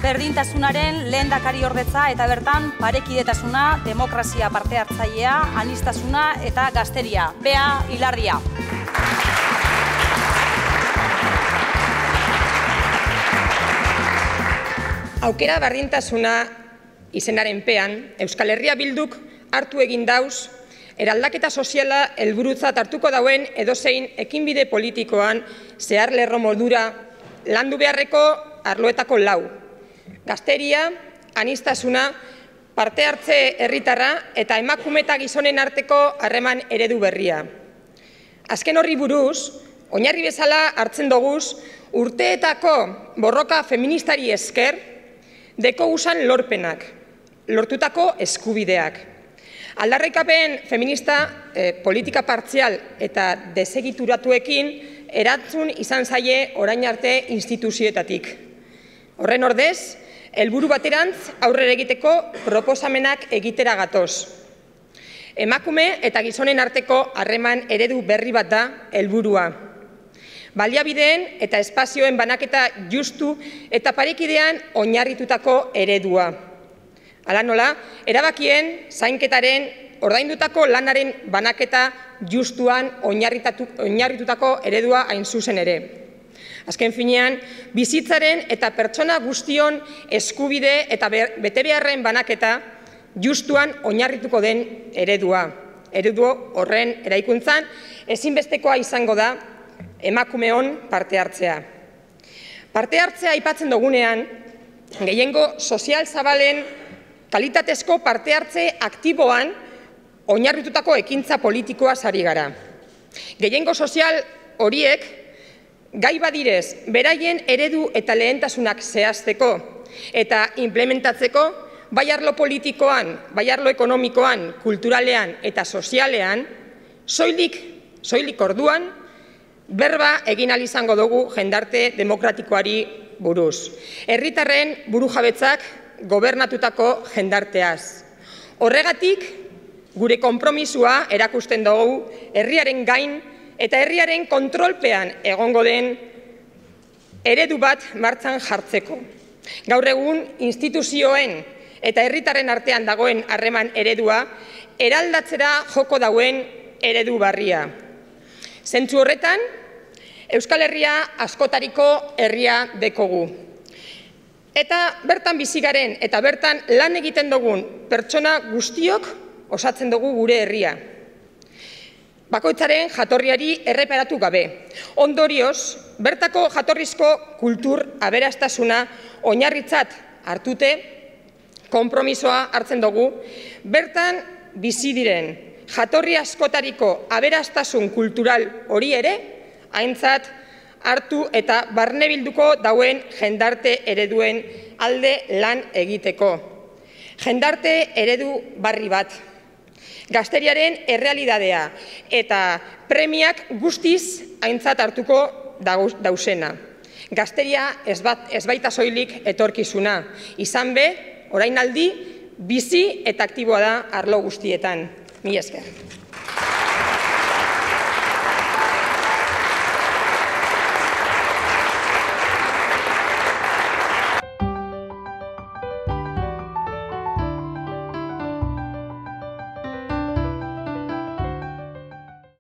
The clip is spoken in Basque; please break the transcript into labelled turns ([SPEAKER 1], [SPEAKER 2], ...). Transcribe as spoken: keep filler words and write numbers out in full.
[SPEAKER 1] berdintasunaren lehendakariordetza eta bertan parekidetasuna, demokrazia parte hartzailea, aniztasuna eta gazteria. Bea Ilardia.
[SPEAKER 2] Aukera berdintasuna izenaren pean, Euskal Herria Bilduk hartu egin dauz, eraldaketa soziala helburutzat hartuko dauen edozein ekinbide politikoan zehar lerro moldura landu beharreko arloetako lau. Gazteria, aniztasuna, parte hartze herritarra eta emakume eta gizonen arteko harreman eredu berria. Azken horri buruz, oinarri bezala hartzen doguz, urteetako borroka feministari esker, deko usan lorpenak, lortutako eskubideak. Aldarrikapen feminista, eh, politika partzial eta desegituratuekin erantzun izan zaie orain arte instituzioetatik. Horren ordez, helburu baterantz aurrera egiteko proposamenak egitera gatoz. Emakume eta gizonen arteko harreman eredu berri bat da helburua. Baliabideen eta espazioen banaketa justu eta parekidean oinarritutako eredua. Hala nola, erabakien, zainketaren, ordaindutako lanaren banaketa justuan oinarritutako eredua hain zuzen ere. Azken finean, bizitzaren eta pertsona guztion eskubide eta betebeharren banaketa justuan oinarrituko den eredua. Eredu horren eraikuntzan ezinbestekoa izango da emakumeon parte hartzea. Parte hartzea aipatzen dugunean, gehiengo sozial zabalen kalitatezko parte hartze aktiboan oinarritutako ekintza politikoa sari gara. Gehiengo sozial horiek gai badirez, beraien eredu eta lehentasunak zehazteko eta implementatzeko, bai arlo politikoan, bai arlo ekonomikoan, kulturalean eta sozialean, soilik, soilik orduan, berba egin ahal izango dugu jendarte demokratikoari buruz. Herritarren burujabetzak gobernatutako jendarteaz. Horregatik, gure konpromisua erakusten dugu herriaren gain eta herriaren kontrolpean egongo den eredu bat martxan jartzeko. Gaur egun instituzioen eta herritarren artean dagoen harreman eredua eraldatzera joko dauen eredu barria. Zentzu horretan, Euskal Herria askotariko herria dekogu. Eta bertan bizigaren eta bertan lan egiten dugun pertsona guztiok osatzen dugu gure herria. Bakoitzaren jatorriari erreparatu gabe. Ondorioz, bertako jatorrizko kultur aberastasuna oinarritzat hartute, konpromisoa hartzen dugu, bertan bizi diren jatorri askotariko aberastasun kultural hori ere, aintzat hartu eta barnebilduko dauen jendarte ereduen alde lan egiteko. Jendarte eredu barri bat. Gazteriaren errealidadea eta premiak guztiz aintzat hartuko dauzena. Gazteria ez baita soilik etorkizuna. Izan be, orain aldi, bizi eta aktiboa da arlo guztietan. Mila esker.